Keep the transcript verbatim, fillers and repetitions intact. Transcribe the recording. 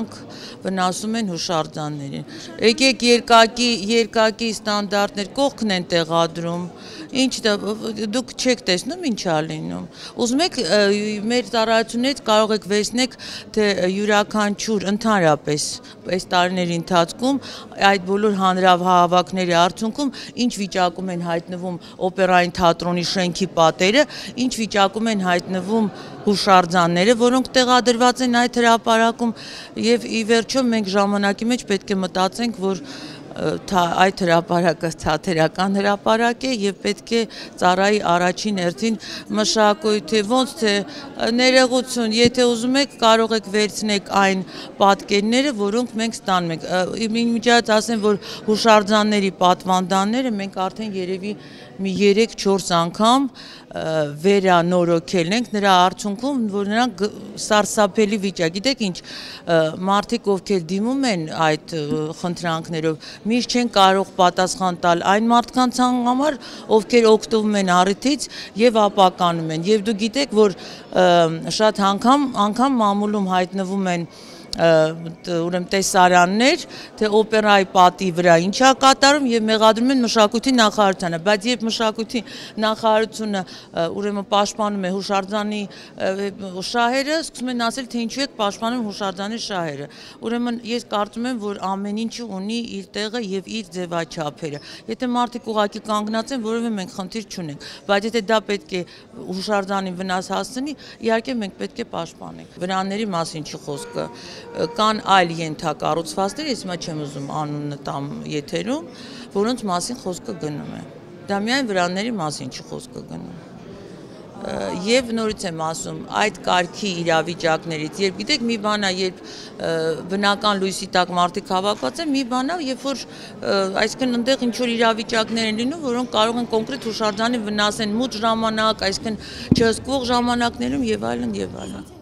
նրանք վնասում են հուշարձաններին։ Եկեք երկակի, երկակի ստանդարտներ կողքն են տեղադրում, ինչ դուք չեք տեսնում ինչ ա լինում։ Ուզում եք մեր ծառայությունից կարող եք վերցնել, թե յուրաքանչյուր ընդհանրապես այս տարիների ընթացքում այդ բոլոր հանրահավաքների արդյունքում ինչ վիճակում են հայտնվում օպերային թատրոնի շենքի պատերը, ինչ վիճակում են հայտնվում հուշարձանները, որոնք տեղադրված են այդ հրապարակում, եւ ի վերջո մենք ժամանակի մեջ պետք է մտածենք, որ այդ հրապարակը թատերական հրապարակ է եւ պետք է ծառայի առաջին հերթին մշակույթի, ոնց թե ներողություն, եթե ուզում եք կարող եք վերցնել այն պատկերները, որոնք մենք ստանում ենք։ Իմիջիայլոց ասեմ, որ հուշարձանների պատվանդանները մենք արդեն երևի մի երեք-չորս անգամ վերանորոգել ենք, նրա արդյունքում, որ նրանք սարսափելի վիճակ, գիտեք ինչ, մարդիկ ովքեր դիմում են այդ խնդրանքներով, միշտ չեն կարող պատասխան տալ այն մարդկանց համար, ովքեր օգտվում են առիթից եւ ապականում են, եւ դու գիտեք, որ շատ անգամ, անգամ մամուլում հայտնվում են ուրեմն տեսարաններ, թե օպերայի պատի վրա ինչ ա կատարում եւ մեղադրում են մշակույթի նախարարությանը, բայց երբ մշակույթի նախարարությունը ուրեմն պաշտպանում է հուշարձանի շահերը, սկսում են ասել, թե ինչու եք պաշտպանում հուշարձանի շահերը։ Ուրեմն ես կարծում եմ, որ ամեն ինչը ունի իր տեղը եւ իր ձևաչափերը։ Եթե մարդիկ ուղղակի կանգնած են, որովհետեւ մենք խնդիր չունենք, բայց եթե դա պետք է հուշարձանին վնաս հասցնի, իհարկե մենք պետք է պաշտպանենք։ Վրանների մասին չի խոսքը, կան այլ ենթակառուցվածքներ, ես հիմա չեմ ուզում անունը տամ եթերում, որոնց մասին խոսքը գնում է։ Դա միայն վրանների մասին չի խոսքը գնում։ Եվ նորից եմ ասում, այդ կարգի իրավիճակներից, երբ գիտեք մի բան է, երբ բնական լույսի տակ մարդիկ հավաքված են, մի բան է, երբ որ այսինքն այնտեղ ինչ որ իրավիճակներ են լինում, որոնք կարող են կոնկրետ հուշարձանի վնասեն մութ ժամանակ, այսինքն չհսկվող ժամանակներում եւ այլն եւ այլն։